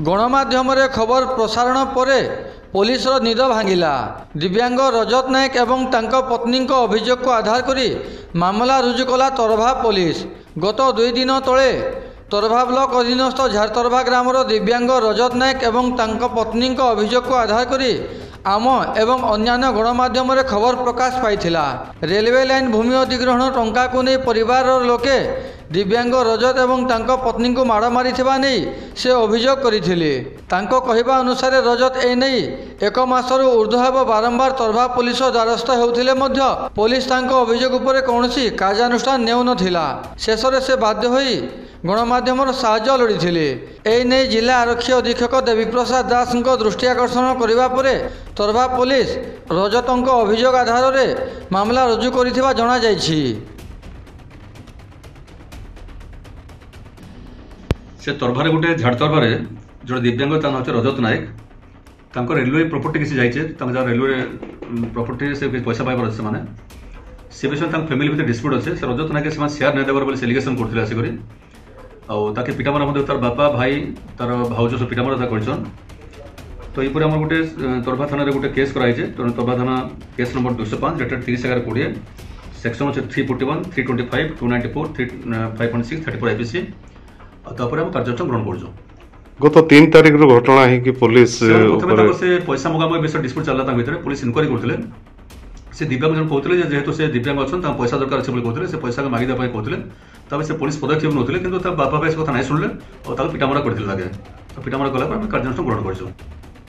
ଗଣମାଧ୍ୟମରେ ଖବର ପ୍ରସାରଣ ପରେ ପୋଲିସର ନିଦ ଭାଙ୍ଗିଲା। ଦିବ୍ୟାଙ୍ଗ ରଜତ ନାୟକ ଏବଂ ତାଙ୍କ ପତ୍ନୀଙ୍କ ଅଭିଯୋଗକୁ ଆଧାର କରି ମାମଲା ରୁଜୁ କଲା ତରଭା ପୋଲିସ। ଗତ 2 ଦିନ ତଳେ ତରଭା ବ୍ଲକ ଅଧୀନସ୍ଥ ଝାରତରଭା ଗ୍ରାମର ଦିବ୍ୟାଙ୍ଗ ରଜତ ନାୟକ ଏବଂ ତାଙ୍କ ପତ୍ନୀଙ୍କ ଅଭିଯୋଗକୁ ଆଧାର କରି ଆମ ଏବଂ ଅନ୍ୟାନ୍ୟ ଗଣମାଧ୍ୟମରେ ଖବର ପ୍ରକାଶ ପାଇଥିଲା। ରେଲୱେ ଲାଇନ୍ ଭୂମି ଅଧିଗ୍ରହଣ ଟଙ୍କାକୁ ନେଇ ପରିବାରର ଲୋକେ ଦିବ୍ୟାଙ୍ଗ ରଜତ ଏବଂ ତାଙ୍କ ପତ୍ନୀଙ୍କୁ ମାଡ଼ ମାରିଥିବା ନେଇ ସେ ଅଭିଯୋଗ କରିଥିଲେ। ତାଙ୍କ କହିବା ଅନୁସାରେ ରଜତ ଏନେଇ 1 ମାସରୁ ଉର୍ଦ୍ଧ୍ୱ ହେବ ବାରମ୍ବାର ତରଭା ପୋଲିସ ଦ୍ୱାରସ୍ଥ ହେଉଥିଲେ ମଧ୍ୟ ପୋଲିସ ତାଙ୍କ ଅଭିଯୋଗ ଉପରେ କୌଣସି କାର୍ଯ୍ୟାନୁଷ୍ଠାନ ନେଉନଥିଲା। ଶେଷରେ ସେ ବାଧ୍ୟ ହୋଇ ଗଣମାଧ୍ୟମର ସାହାଯ୍ୟ ଲୋଡ଼ିଥିଲେ। ଏନେଇ ଜିଲ୍ଲା ଆରକ୍ଷୀ ଅଧୀକ୍ଷକ ଦେବୀପ୍ରସାଦ ଦାସଙ୍କ ଦୃଷ୍ଟି ଆକର୍ଷଣ କରିବା ପରେ ତରଭା ପୋଲିସ ରଜତଙ୍କ ଅଭିଯୋଗ ଆଧାରରେ ମାମଲା ରୁଜୁ କରିଥିବା ଜଣାଯାଇଛି। ସେ ତରଭାରେ ଗୋଟେ ଝାଡ଼ ତରଭାରେ ଜଣେ ଦିବ୍ୟାଙ୍ଗ, ତା ନାଁ ହେଉଛି ରଜତ ନାୟକ। ତାଙ୍କ ରେଲୱେ ପ୍ରପର୍ଟି କିଛି ଯାଇଛି, ତାଙ୍କ ଯାହା ରେଲୱେ ପ୍ରପର୍ଟି ସେ କିଛି ପଇସା ପାଇବାର ଅଛି, ସେମାନେ ସେ ବିଷୟରେ ତାଙ୍କ ଫ୍ୟାମିଲି ଭିତରେ ଡିସ୍ପ୍ୟୁଟ୍ ଅଛି। ସେ ରଜତ ନାୟକ ସେମାନେ ସେୟାର ନାଇଁ ଦେବାର ବୋଲି ସେ ଏଲିଗେସନ୍ କରୁଥିଲେ ଆସିକରି, ଆଉ ତାକେ ପିଟାମରା ମଧ୍ୟ ତାର ବାପା, ଭାଇ, ତାର ଭାଉଜ ସବୁ ପିଟାମରା ତା କରିଛନ୍। ତ ଏଇପରି ଆମର ଗୋଟେ ତରଭା ଥାନାରେ ଗୋଟେ କେସ୍ କରାହେଇଛି। ତେଣୁ ତରଭା ଥାନା କେସ୍ ନମ୍ବର 205 ଡେଟେଡ୍ 30/11/20, ସେକ୍ସନ୍ ଅଛି 341, 325, 294, 3 5.6, 34 ଆଇପିସି। ଆଉ ତାପରେ ଆମେ କାର୍ଯ୍ୟାନୁଷ୍ଠାନ ଗ୍ରହଣ କରୁଛୁ। ଗତ 3 ତାରିଖରୁ ଘଟଣା ହେଇକି ପୋଲିସ ପ୍ରଥମେ ତାଙ୍କ ସେ ପଇସା ମଗାମଗି ବିଷୟରେ ଡିସ୍ପ୍ୟୁଟ୍ ଚାଲିଲା, ତାଙ୍କ ଭିତରେ ପୋଲିସ ଇନକ୍ୱାରି କରୁଥିଲେ। ସେ ଦିବ୍ୟାଙ୍ଗ ଜଣ କହୁଥିଲେ ଯେ ଯେହେତୁ ସେ ଦିବ୍ୟାଙ୍ଗ ଅଛନ୍ତି, ତାଙ୍କ ପଇସା ଦରକାର ଅଛି ବୋଲି କହୁଥିଲେ, ସେ ପଇସାକୁ ମାଗିଦେବା ପାଇଁ କହୁଥିଲେ। ତାପରେ ସେ ପୋଲିସ ପଦକ୍ଷେପ ନେଉଥିଲେ, କିନ୍ତୁ ତା ବାପା ଭାଇ ସେ କଥା ନାଇଁ ଶୁଣିଲେ ଆଉ ତାକୁ ପିଟାମରା କରିଥିଲେ। ତାକେ ପିଟାମରା କଲା ପରେ ଆମେ କାର୍ଯ୍ୟାନୁଷ୍ଠାନ ଗ୍ରହଣ କରିଛୁ।